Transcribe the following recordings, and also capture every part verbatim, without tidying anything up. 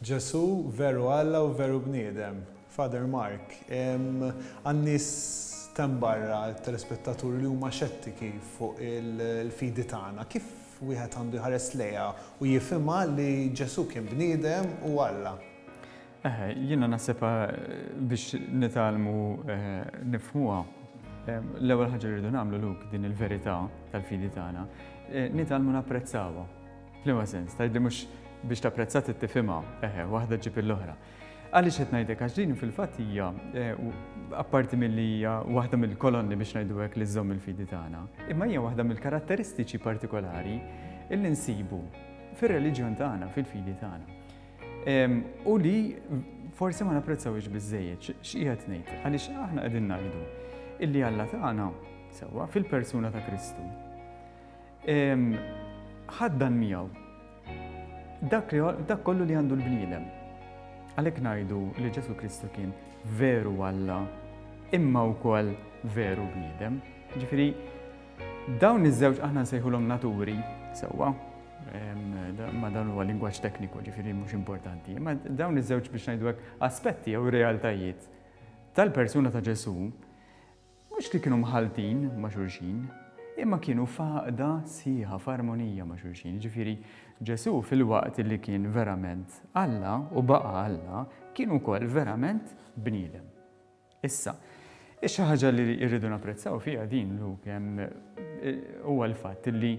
Ġesu veru Alla u veru bniedem. Father Mark, għan-nies t'hemm barra, telespettaturi li huma xettiki fuq il-fidi tagħna, kif wieħed għandu jħares lejha u jifhimha li Ġesu kien bniedem u Alla? Eh, jiena naħseb biex nitgħallmu eh, nifhmuha, l-ewwel ħaġa li rridu nagħmlu, Luke, din il-verità tal-fidi tagħna, eh, nitgħallmu napprezzawha. F'liema sens? Tgħidli mhux biex tapprezza tifhimha, eħe, waħda ġib l-oħra. Għaliex qed ngħidlek? Għax din fil-fatt hija, apparti milli hija waħda mill-kolonni, biex ngħidu hekk, li żżomm il-fidi tagħna, imma hija waħda mill-karatteristiċi partikolari illi nsibu fir-reliġjon tagħna, fil-fidi tagħna. U li forsi ma napprezzawx biżejjed. X'qiegħed ngħid? Għaliex aħna qegħdin ngħidu illi Alla tagħna, sewwa, fil-persuna ta' Kristu, ħaddan miegħu dak, dak kollu li għandu l-bniedem. Għalhekk ngħidu li Ġesu Kristu kien veru Alla imma wkoll veru bniedem. Ġifieri dawn iż-żewġ, aħna nsejħulhom naturi, sewwa, ma dan huwa lingwaġġ tekniku, ġifieri mhux importanti. Ma dawn iż-żewġ, biex ngħidu hekk, aspetti jew realtajiet tal-persuna ta' Ġesu mhux li kienu mħaltin ma' xulxin, imma kienu f'għaqda sħiħa, f'armonija ma' xulxin. Ġifieri Ġesu, filwaqt li kien verament Alla u baqa Alla, kien ukoll verament bniedem. Issa, xi ħaġa li rridu napprezzaw fiha din, Luke, hemm huwa l-fatt li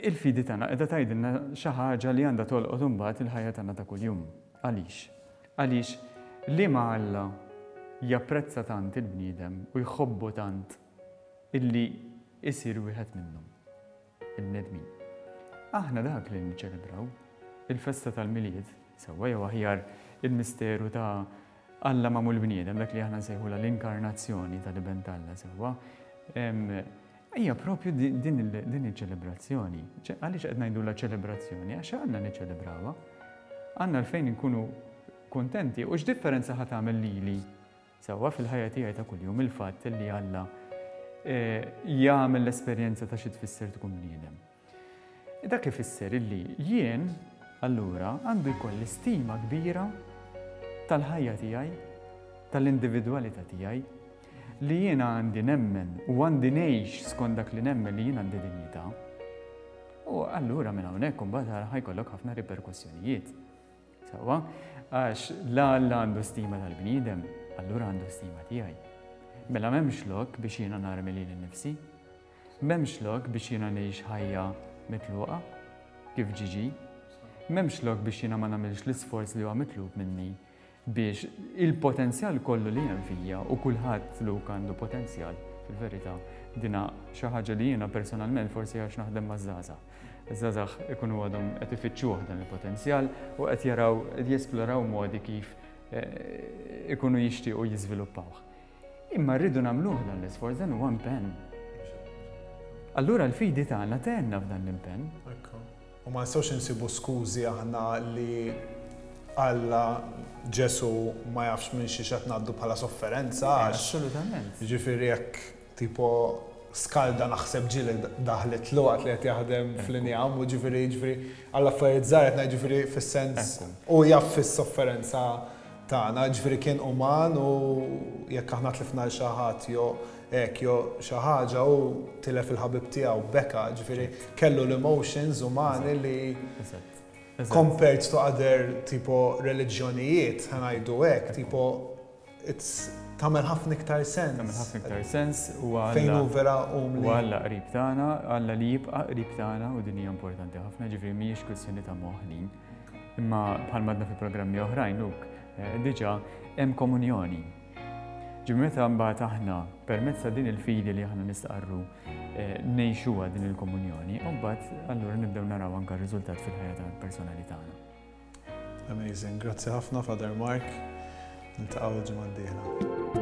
il-fidi tagħna qiegħda tgħidilna xi ħaġa li għandha tolqot imbagħad il-ħajja tagħna ta' kuljum. Għaliex? Għaliex li ma Alla japprezza tant il-bniedem u jħobbu tant illi isir wieħed minnhom, il-bnedmin. Aħna dak li niċċelebraw, il-festa tal-Milied, sewwa, jew aħjar il-misteru ta' Alla magħmul bniedem, dak li aħna nsejħula l-inkarnazzjoni tal-Iben t'Alla, sewwa. Hija propju din il-ċelebrazzjoni. Għaliex qed ngħidu la ċelebrazzjoni? Għax għandna niċċelebrawha. Għandna għalfejn nkunu kontenti. U x'differenza ħa tagħmel lili, sewwa, fil-ħajja tiegħi ta' kuljum il-fatt li Alla eh, jagħmel l-esperjenza ta' xi tfisser tkun bniedem? Dak ifisser illi jien allura għandu jkolli stima kbira tal-ħajja tiegħi, tal-individwalità tiegħi, li jiena għandi nemmen u għandi ngħix skont dak li nemmen, li jien għandi dinjità. U allura minn hawnhekk imbagħad ħa jkollok ħafna riperkussjonijiet. Sewwa, għax la Alla għandu stima tal-bniedem, allura għandu stima tiegħi. Mela m'hemmx lok biex jiena narmi lili nnifsi, m'hemmx lok biex jiena ngħix ħajja mitluqa kif ġiġi, m'hemmx lok biex jiena ma nagħmilx l-isforz li huwa mitlub minni biex il-potenzjal kollu li hemm fija, u kulħadd, Luke, għandu potenzjal fil-verità. Dina xi ħaġa li jiena personalment, forsi għax naħdem maż-żgħażagħ. Iż-żgħażagħ ikunu għadhom qed ifittxuh dan il-potenzjal u qed jaraw, qed jesploraw modi kif eh, ikunu jixtiequ jiżviluppawh. Imma rridu nagħmluh dan l-isforz, dan huwa impenn. Allura l-fidi tagħna tgħinna f'dan l-impenn. Ekku. U ma nistgħux insibu skużi aħna li Alla, Ġesu ma jafx minn xi qed ngħaddu bħala sofferenza għax Assolutament. Ġifieri jekk tipo skalda, naħseb ġieli daħlet l waqt li qed jaħdem fl-injam u ġifieri ġifieri għall affarijiet żgħar qed ngħid, ġifieri fis-sens Ekku. u jaf fis-sofferenza tagħna, ġifieri kien uman u jekk aħna tlifna l xi ħadd jew hekk jew xi ħaġa u tilef il-ħabib tiegħu beka, ġifieri kellu l-emotions umani li Eżatt. Eżatt. compared to other tipo reliġjonijiet, ħa ngħidu hekk, tipo it's tagħmel ħafna iktar sens. Tagħmel ħafna iktar sens u Fejn hu Alla vera umli. U Alla qrib tagħna, Alla li jibqa' qrib tagħna, u din hija importanti ħafna, ġifieri mhijiex kwistjoni ta' moħħ. Imma bħal għedna fi programmi oħrajn, Luke, eh, diġà hemm komunjoni. Ġifieri meta mbagħad aħna permezz ta' din il-fidi li aħna nistqarru eh, ngħixuha din il-komunjoni, u mbagħad allura nibdew naraw anke r-riżultat fil-ħajja tal-personali tagħna. Amazing. Grazzi ħafna, Father Mark. Niltaqgħu l-ġimgħa d-dieħla.